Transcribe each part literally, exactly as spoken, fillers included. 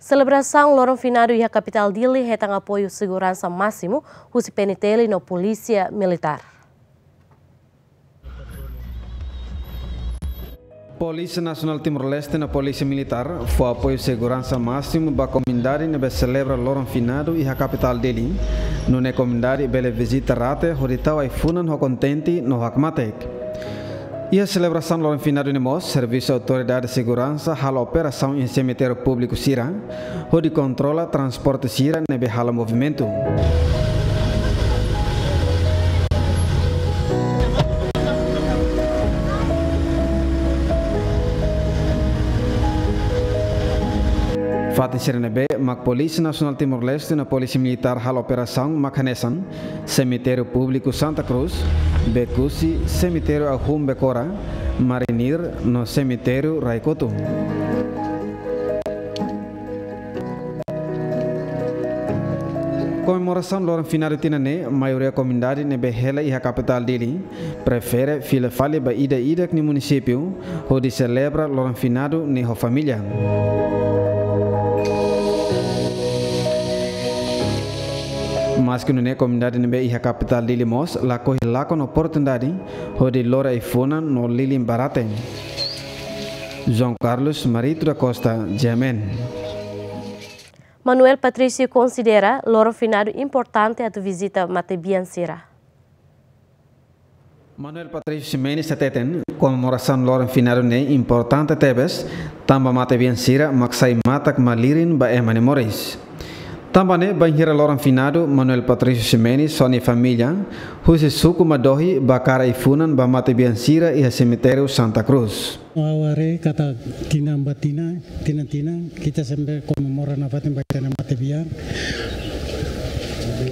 Selebrasaun loron finadu iha kapitál Dili hetan apoiu seguransa másimu husi P N T L no Polísia Militár. Polísia Nasionál Timor-Leste no Polísia Militár fó apoiu seguransa másimu ba komunidade ne'ebé selebra loron finadu iha kapitál Dili, nune'e komunidade bele vizita rate hodi tau ai-funan ho kontente no hakmatek. Iha selebrasaun loron finadu ne'e mós, servisu autoridade seguransa halo operasaun iha semitériu públiku sira, hodi kontrola transporte sira ne'ebé halo movimentu. Fatin sira ne'ebé mak Polísia Nasionál Timor-Leste no Polísia Militár halo operasaun mak hanesan Semitériu Públiku Santa Cruz, Becusse, Semitériu Ahum Becora, Marinir no Semitériu Raikotu. Komemorasaun loron finadu tinan ne'e, maioria komunidade ne'ebé hela iha kapitál Dili prefere fila fali ba ida-idak nia munisípiu hodi selebra loron finadu ne'e ho família. Maske nune'e, komunidade ne'ebé iha kapitál Dili mós lakohi lakon oportunidade hodi lori ai-funan no lilin ba rate. João Carlos Marito da Costa, G M N. Manuel Patrício konsidera loron finadu importante atu vizita matebian sira. Manuel Patrício Ximenes hateten, komemorasaun loron finadu ne'e importante tebes, tanba matebian sira mak sai matak-malirin ba ema nia moris. Tanba ne'e, bainhira loron finadu, Manuel Patrício Ximenes ho nia família husi suku Madohi bá kaer ai-funan ba matebian sira iha semitériu Santa Cruz. Ha'u haree katak tinan ba tinan, tinan-tinan, ita sempre komemora nafatin ba ita-nia matebian.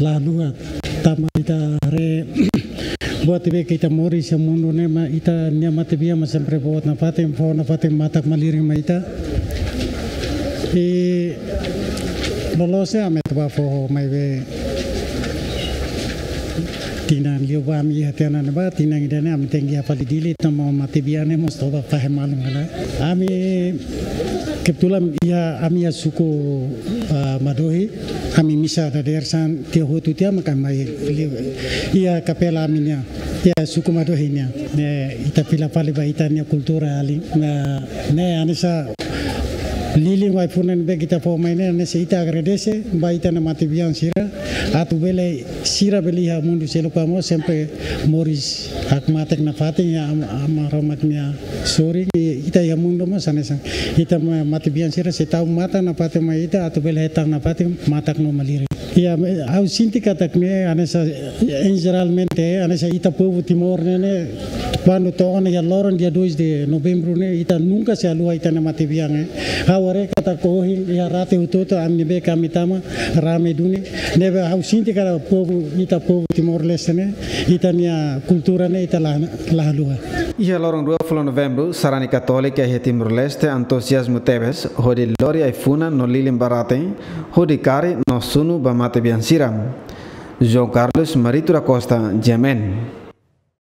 Lalu, tanba ita haree buat ne'ebé ke ita moris iha mundu ne'e, mak ita-nia matebian mak sempre boot nafatin, fó nafatin matak-malirin mai ita. I loloos ne'e ami atu bá fó mai be tinan liubá ami iha tiha ona ne'ebá, tinan ida-ne'e ami tenke iha fali Dili, tanba matebian ne'e mós toba fahe malu hela. Ami kebetulan iha, ami iha suku, ah, Madohi, ami misa dadeer-saan tiha hotu tiha mak ami mai liu iha kapela ami-nia, iha suku Madohi nian. Ne'e ita fila fali ba ita-nia kultura alin. Ne'e, ne'e hanesan lilin ho ai-funan ne'ebé ke ita fó mai ne'e, hanesan ita agradese ba ita-nia matebian sira, atu bele sira bele iha mundu seluk mós sempre moris hakmatek nafatin iha Am-, Aman Maromak nia sorin, i ita iha mundu mós hanesan. Ita ma-, matebian sira sei tau matak nafatin mai ita atu bele hetan nafatin matak no malirin. Iha, ha'u sente katak ne'e hanesan, em geralmente, hanesan ita povu Timor ne'e, ne'e, kuandu to'o ona iha loron dia dois de novembro ne'e, ita nunka sei haluha ita-nia matebian, eh. Ha'u haree katak ohin iha rate hotu-hotu ami ne'ebé ke ami tama rame duni. Ne'ebé ha'u sente katak povu, ita povu Timor-Leste ne'e, ita-nia kultura ne'e ita la, la haluha. Iha loron rua fulan Novembru, sarani Katólika iha Timor-Leste entuziazmu tebes hodi lori ai-funan no lilin ba rate, hodi kari no sunu ba matebian sira. João Carlos Marito da Costa, G M N.